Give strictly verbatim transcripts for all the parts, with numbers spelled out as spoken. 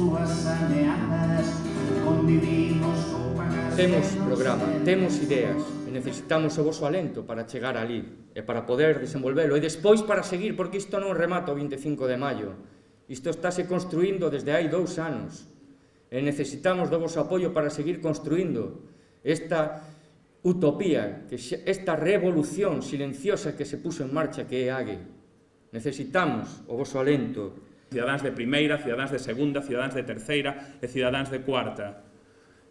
súas ameazas, convivimos con pagas... Temos programa, temos ideas, e necesitamos o voso alento para chegar ali, e para poder desenvolvelo, e despois para seguir, porque isto non remata o vinte e cinco de maio. Isto estáse construindo desde hai dous anos, e necesitamos do voso apoio para seguir construindo esta utopía, esta revolución silenciosa que se puso en marcha, que é A G E. Necesitamos o voso alento. Cidadáns de primeira, cidadáns de segunda, cidadáns de terceira e cidadáns de cuarta.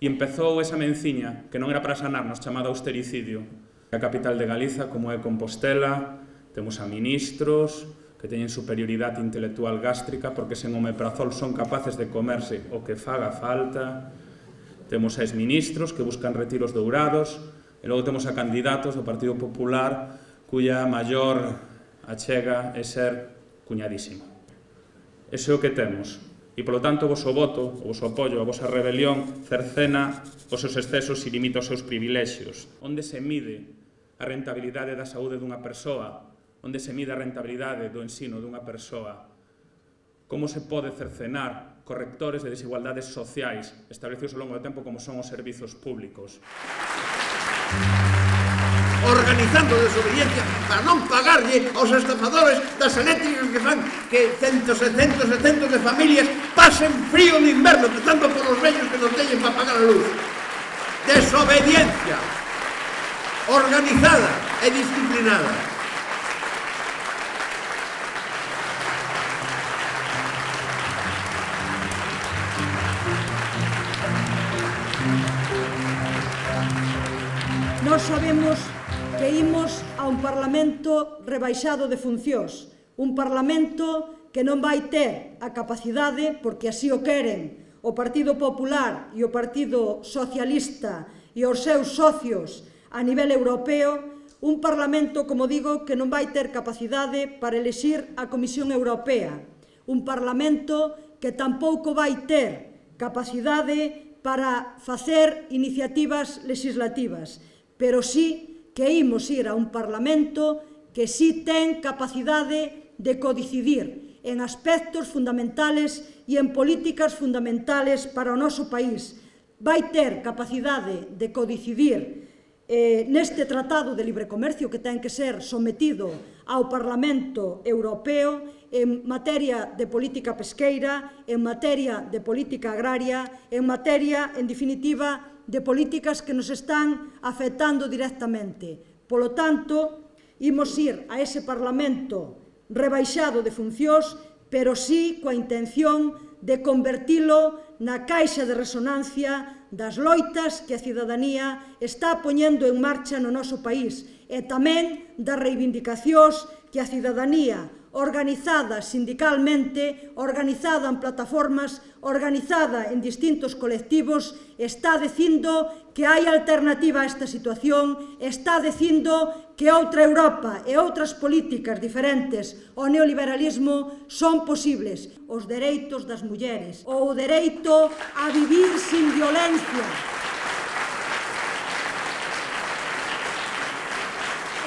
E empezou esa menciña, que non era para sanarnos, chamada austericidio. A capital de Galiza, como é Compostela, temos a ministros que teñen superioridade intelectual gástrica porque sen omeprazol son capaces de comerse o que faga falta. Temos a exministros que buscan retiros dourados e logo temos a candidatos do Partido Popular cuya maior achega é ser cuñadísimo. Ese é o que temos. E, polo tanto, o voso voto, o voso apoio, a vosa rebelión cercena os seus excesos e limita os seus privilexios. Onde se mide a rentabilidade da saúde dunha persoa? Onde se mide a rentabilidade do ensino dunha persoa? Como se pode cercenar correctores de desigualdades sociais establecidos ao longo do tempo como son os servizos públicos? Organizando desobediencia para non pagarlle aos estafadores das eléctricas que fan que centos e centos e centos de familias pasen frío de inverno, empezando por os vellos que non teñen para pagar a luz. Desobediencia organizada e disciplinada. Nós sabemos que imos a un Parlamento rebaixado de funcións, un Parlamento que non vai ter a capacidade, porque así o queren o Partido Popular e o Partido Socialista e os seus socios a nivel europeo, un Parlamento, como digo, que non vai ter capacidade para elexir a Comisión Europea, un Parlamento que tampouco vai ter capacidade para facer iniciativas legislativas, pero sí que imos ir a un Parlamento que sí ten capacidade de codecidir en aspectos fundamentales e en políticas fundamentales para o noso país. Vai ter capacidade de codecidir eh, neste Tratado de Libre Comercio que ten que ser sometido ao Parlamento Europeo en materia de política pesqueira, en materia de política agraria, en materia, en definitiva, de políticas que nos están afectando directamente. Polo tanto, imos ir a ese Parlamento rebaixado de funcións, pero sí coa intención de convertilo na caixa de resonancia das loitas que a cidadanía está poñendo en marcha no noso país e tamén das reivindicacións que a cidadanía organizada sindicalmente, organizada en plataformas, organizada en distintos colectivos, está dicindo que hai alternativa a esta situación, está dicindo que outra Europa e outras políticas diferentes ao neoliberalismo son posibles. Os dereitos das mulleres, ou o dereito a vivir sin violencia.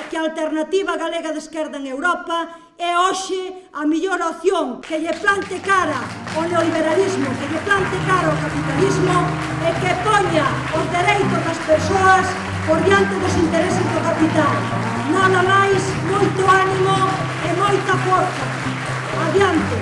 Que a alternativa galega de esquerda en Europa é hoxe a mellor opción que lle plante cara ao neoliberalismo, que lle plante cara ao capitalismo e que poña os dereitos das persoas por diante dos intereses do capital. Nada máis, moito ánimo e moita forza. Adiante.